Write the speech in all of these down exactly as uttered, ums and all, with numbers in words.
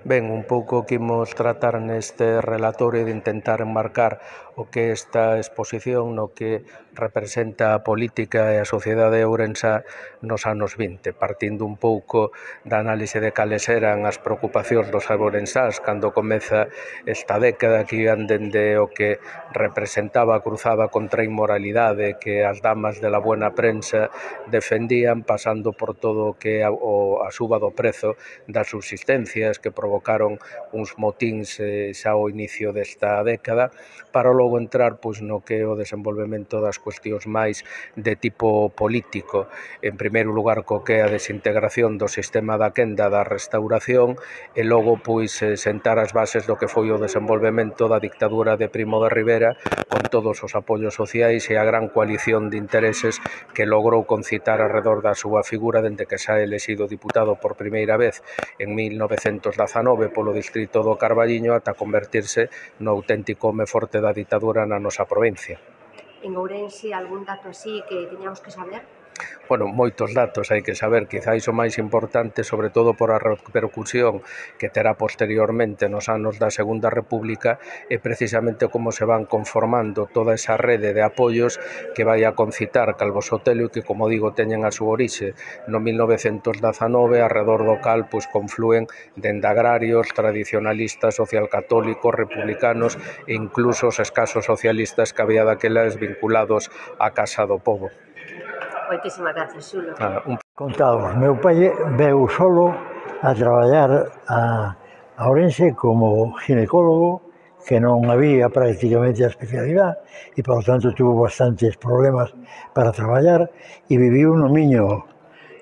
Ben, un pouco que imos tratar neste relatorio de intentar enmarcar o que esta exposición no que representa a política e a sociedade ourensá nos anos vinte, partindo un pouco da análise de cales eran as preocupacións dos ourensáns cando comeza esta década que iban dende o que representaba a cruzada contra a inmoralidade que as damas de la buena prensa defendían, pasando por todo o que a, o, a suba do prezo das subsistencias que provocaron uns motíns eh, xa ao inicio desta década, para logo entrar pois, no que é o desenvolvemento das cuestións máis de tipo político. En primeiro lugar, co que é a desintegración do sistema da quenda da restauración e logo pois sentar as bases do que foi o desenvolvemento da dictadura de Primo de Rivera con todos os apoios sociais e a gran coalición de intereses que logrou concitar alrededor da súa figura dende que xa é elexido diputado por primeira vez en mil novecentos dezanove polo distrito do Carballiño ata convertirse no auténtico home forte da ditadura na nosa provincia. En Ourense, algún dato así que teñamos que saber? Bueno, moitos datos hai que saber, quizáis o máis importante, sobre todo por a repercusión que terá posteriormente nos anos da Segunda República, é precisamente como se van conformando toda esa rede de apoios que vai a concitar Calvo Sotelo e que, como digo, teñen a súa orixe no mil novecentos dezanove, arredor do cal pois, conflúen dende agrarios, tradicionalistas, socialcatólicos, republicanos e incluso os escasos socialistas que había daquelas vinculados á Casa do Pobo. Moitísimas gracias, Xulo. Ah, un... Contados, meu pai veu solo a traballar a, a Ourense como ginecólogo, que non había prácticamente a especialidade e, por tanto, tuvo bastantes problemas para traballar e viviu no Miño,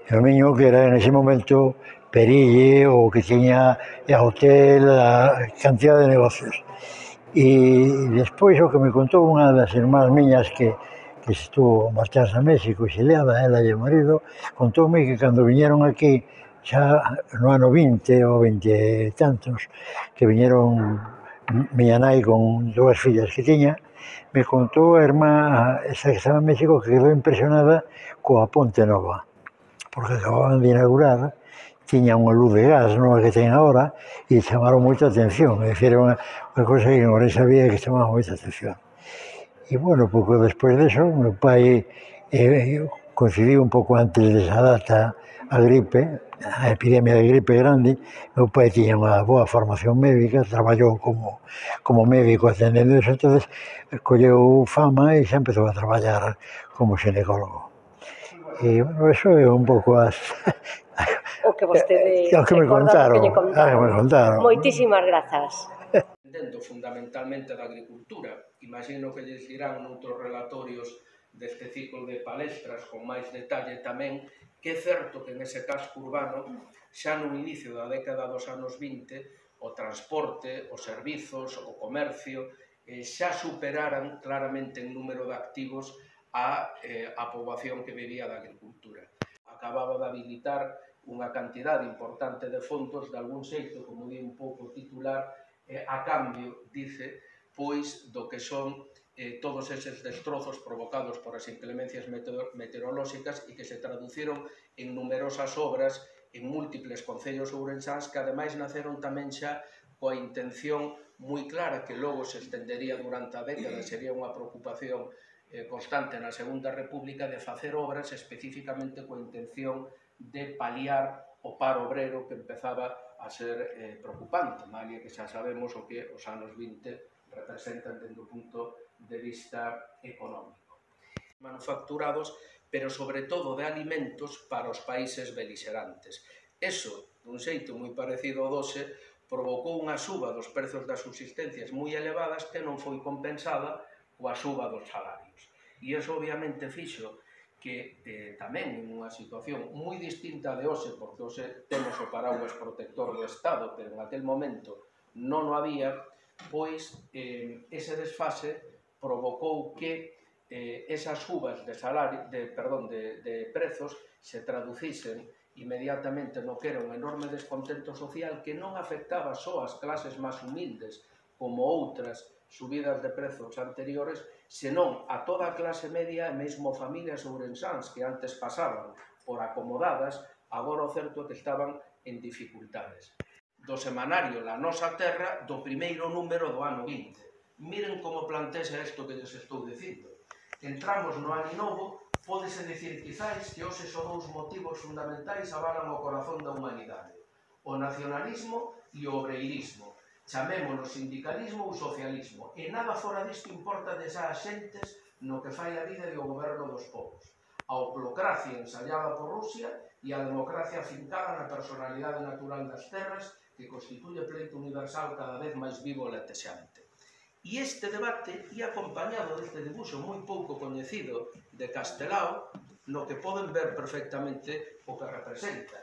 no Miño que era en ese momento Perille, o que tiña a hotel, a cantidad de negocios. E despois o que me contou unha das irmás miñas que que estuvo marcharse a México, exiliada, ela e o marido, contoume que cando viñeron aquí, xa no ano vinte ou vinte e tantos, que viñeron miña nai con dúas fillas que tiña, me contou a irmá, esa que estaba en México, que quedou impresionada coa Ponte Nova, porque acababan de inaugurar, tiña unha luz de gas, non a que ten agora, e chamaron moita atención, é dicir, unha, unha cosa que non sabía que chamaba moita atención. E, bueno, pouco despois deso, meu pai eh, coincidiu un pouco antes desa data a gripe, a epidemia de gripe grande. Meu pai tiña unha boa formación médica, traballou como, como médico atendendo eso, entonces colleu fama e xa empezou a traballar como xinecólogo. E, bueno, eso é un pouco as... o que vostede o que me contaron, que contaron. Ah, que me contaron. Moitísimas grazas. Dentro fundamentalmente da agricultura. Imagino que lles dirán noutros relatorios deste ciclo de palestras con máis detalle tamén que é certo que nese casco urbano xa no inicio da década dos anos vinte o transporte, os servizos, o comercio eh, xa superaran claramente en número de activos a, eh, a poboación que vivía da agricultura. Acababa de habilitar unha cantidade importante de fondos de algún xeito, como di un pouco titular, eh, a cambio, dice, pois do que son eh, todos eses destrozos provocados por as inclemencias meteorolóxicas e que se traduciron en numerosas obras en múltiples concellos ourensáns que ademais naceron tamén xa coa intención moi clara que logo se estendería durante a década, sería unha preocupación eh, constante na Segunda República de facer obras especificamente coa intención de paliar o paro obrero que empezaba a ser eh, preocupante, malia que xa sabemos o que os anos vinte representan dende o punto de vista económico. Manufacturados, pero sobre todo de alimentos para os países beligerantes. Eso, dun xeito moi parecido ao doce, provocou unha suba dos prezos das subsistencias moi elevadas que non foi compensada coa suba dos salarios. E iso obviamente fixo que eh, tamén en unha situación moi distinta de hoxe, porque hoxe temos o paraguas protector do Estado, pero en aquel momento non o había, pois eh, ese desfase provocou que eh, esas subas de, salario, de, perdón, de, de prezos se traducisen inmediatamente no que era un enorme descontento social que non afectaba só as clases máis humildes como outras subidas de prezos anteriores, senón a toda a clase media e mesmo familias ourensáns que antes pasaban por acomodadas, agora o certo é que estaban en dificultades. do semanario La Nosa Terra do primeiro número do ano vinte. Miren como plantexa isto que lles estou dicindo. Entramos no ano novo, pódese dicir quizáis que hoxe son dous motivos fundamentais avalan o corazón da humanidade: o nacionalismo e o obreirismo. Chamémolo sindicalismo ou socialismo, e nada fora disto importa desas xentes no que fai a vida e o goberno dos povos. A oclocracia ensayada por Rusia e a democracia afincada na personalidade natural das terras que constituye pleito universal cada vez máis vivo e latexante. E este debate ia acompañado deste dibuixo moi pouco coñecido de Castelao, no que poden ver perfectamente o que representa.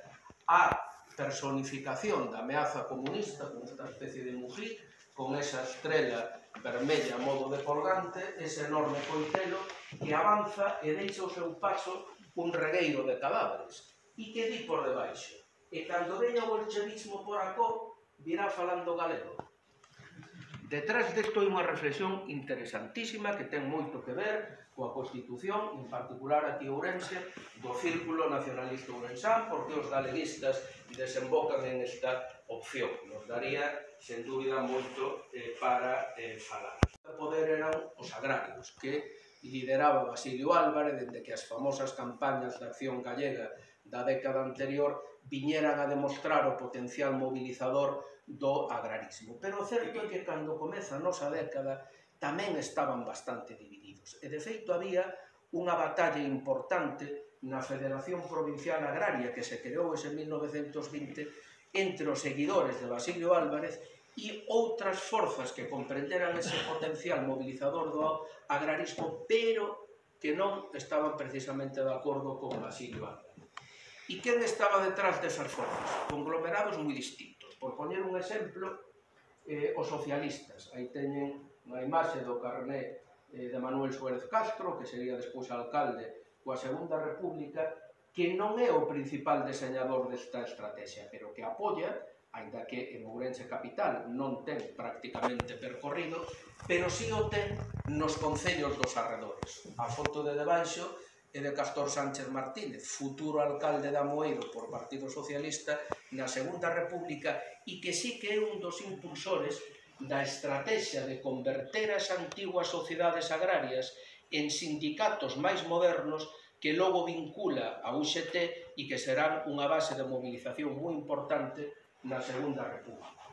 A personificación da ameaza comunista con esta especie de mují, con esa estrela vermella a modo de colgante, ese enorme coitelo que avanza e deixa o seu paso un regueiro de cadáveres. E que di por debaixo? E cando veña o bolchevismo por acó, virá falando galego. Detrás desto hai unha reflexión interesantísima que ten moito que ver coa Constitución, en particular aquí Ourense, do Círculo Nacionalista Ourensán, porque os galeguistas desembocan en esta opción. Nos daría, sen dúbida, moito eh, para eh, falar. O poder eran os agrarios, que lideraba Basilio Álvarez, dende que as famosas campañas de acción gallega da década anterior viñeran a demostrar o potencial mobilizador do agrarismo. Pero o certo é que cando comeza a nosa década tamén estaban bastante divididos. E de feito había unha batalla importante na Federación Provincial Agraria que se creou ese mil novecentos vinte entre os seguidores de Basilio Álvarez e outras forzas que comprenderan ese potencial mobilizador do agrarismo, pero que non estaban precisamente de acordo con Basilio Álvarez. E quen estaba detrás desas forzas? Conglomerados moi distintos. Por poñer un exemplo, eh, os socialistas. Aí teñen unha imaxe do carné eh, de Manuel Suárez Castro, que sería despois alcalde coa Segunda República, que non é o principal deseñador desta estrategia, pero que apoia, aínda que en Ourense capital non ten prácticamente percorrido, pero si o ten nos concellos dos arredores. A foto de debaixo é de Castor Sánchez Martínez, futuro alcalde de Amoeiro por Partido Socialista na Segunda República, e que sí que é un dos impulsores da estrategia de converter as antiguas sociedades agrarias en sindicatos máis modernos que logo vincula a U X T e que serán unha base de movilización moi importante na Segunda República.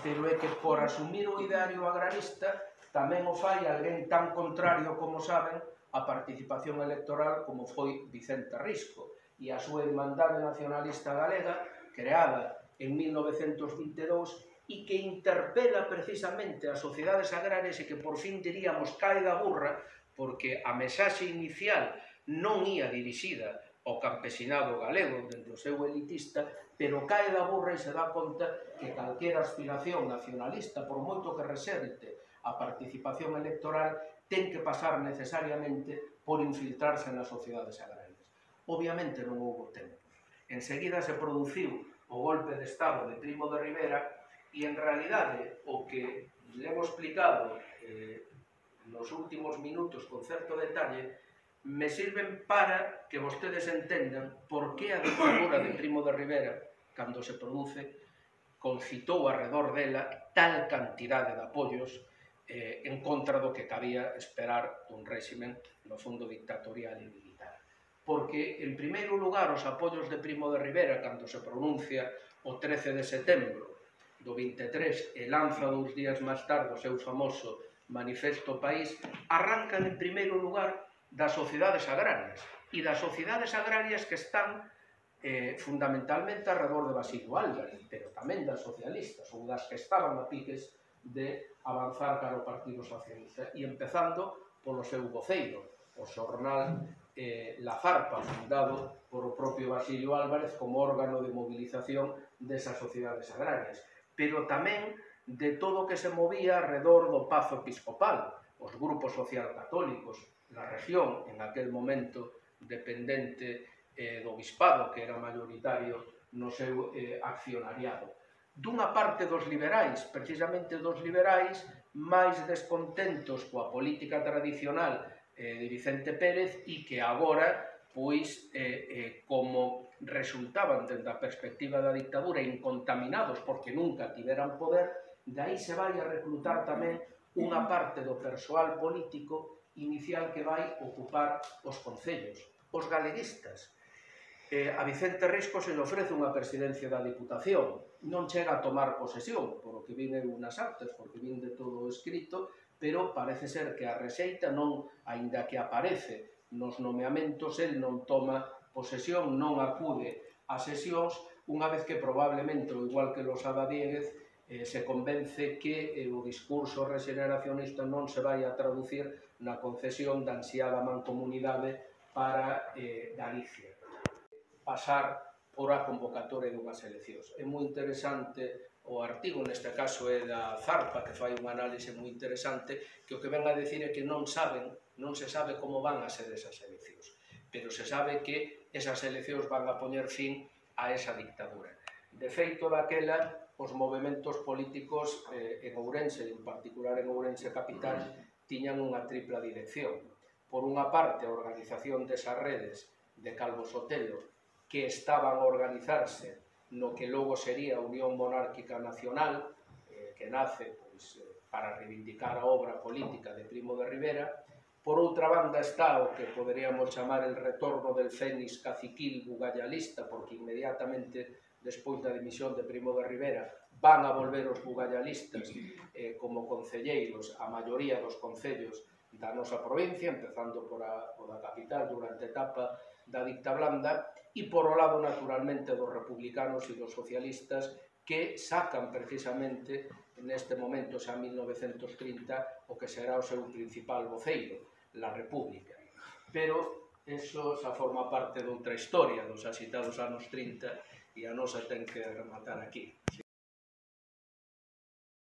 Pero é que por asumir o ideario agrarista tamén o fai alguén tan contrario, como saben, a participación electoral como foi Vicente Risco e a súa Irmandade Nacionalista Galega, creada en mil novecentos vinte e dous, e que interpela precisamente as sociedades agrarias e que por fin diríamos cae da burra, porque a mensaxe inicial non ia dirixida ao campesinado galego dentro do seu elitista, pero cae da burra e se dá conta que calquera aspiración nacionalista, por moito que reserte a participación electoral, ten que pasar necesariamente por infiltrarse nas sociedades agrarias. Obviamente non houve tempo. Enseguida se produciu o golpe de Estado de Primo de Rivera e, en realidade, o que le hemos explicado eh, nos últimos minutos con certo detalle me sirven para que vostedes entendan por que a dictadura de Primo de Rivera, cando se produce, concitou arredor dela tal cantidade de apoios eh, en contra do que cabía esperar dun réximen, no fondo, dictatorial e militar. Porque, en primeiro lugar, os apoios de Primo de Rivera, cando se pronuncia o trece de setembro do vinte e tres e lanza dous días máis tarde o seu famoso Manifesto País, arrancan, en primeiro lugar, das sociedades agrarias, e das sociedades agrarias que están eh, fundamentalmente arredor de Basilio Álvarez, pero tamén das socialistas, ou das que estaban a piques de avanzar cara ao Partido Socialista, e empezando polo seu voceiro, o xornal eh, La Zarpa, fundado por o propio Basilio Álvarez como órgano de movilización desas sociedades agrarias, pero tamén de todo o que se movía alrededor do Pazo Episcopal, os grupos social-católicos na región, en aquel momento dependente eh, do Bispado, que era mayoritario no seu eh, accionariado. Dunha parte dos liberais, precisamente dos liberais, máis descontentos coa política tradicional eh, de Vicente Pérez e que agora, pois, eh, eh, como resultaban, dende a perspectiva da dictadura, incontaminados porque nunca tiveran poder, de aí se vai a reclutar tamén unha parte do persoal político inicial que vai ocupar os concellos, os galeguistas. Eh, a Vicente Risco se le ofrece unha presidencia da Diputación, non chega a tomar posesión, por o que vin eu nas actas, porque vin de todo escrito, pero parece ser que a rexeita non, aínda que aparece nos nomeamentos, el non toma posesión, non acude a sesións, unha vez que probablemente, o igual que Losada Diéguez, eh, se convence que eh, o discurso regeneracionista non se vai a traducir na concesión da ansiada mancomunidade para eh, Galicia. Pasar por a convocatoria dunhas eleccións. É moi interesante o artigo, neste caso é da Zarpa, que fai unha análise moi interesante, que o que ven a decir é que non saben, non se sabe como van a ser esas eleccións, pero se sabe que esas eleccións van a poñer fin a esa dictadura. De feito, daquela, os movementos políticos eh, en Ourense, en particular en Ourense capital, tiñan unha tripla dirección. Por unha parte, a organización desas redes de Calvo Sotelo, que estaban a organizarse no que logo sería a Unión Monárquica Nacional, eh, que nace pois, eh, para reivindicar a obra política de Primo de Rivera. Por outra banda está o que poderíamos chamar el retorno del fénix caciquil bugallalista, porque inmediatamente despois da dimisión de Primo de Rivera van a volver os bugallistas eh, como concelleiros a maioría dos concellos da nosa provincia, empezando por a, por a capital durante a etapa da dicta blanda, e por o lado, naturalmente, dos republicanos e dos socialistas que sacan precisamente neste momento, xa en mil novecentos trinta, o que será o seu principal voceiro, la República. Pero eso xa forma parte doutra historia dos axitados anos trinta e a nosa ten que rematar aquí.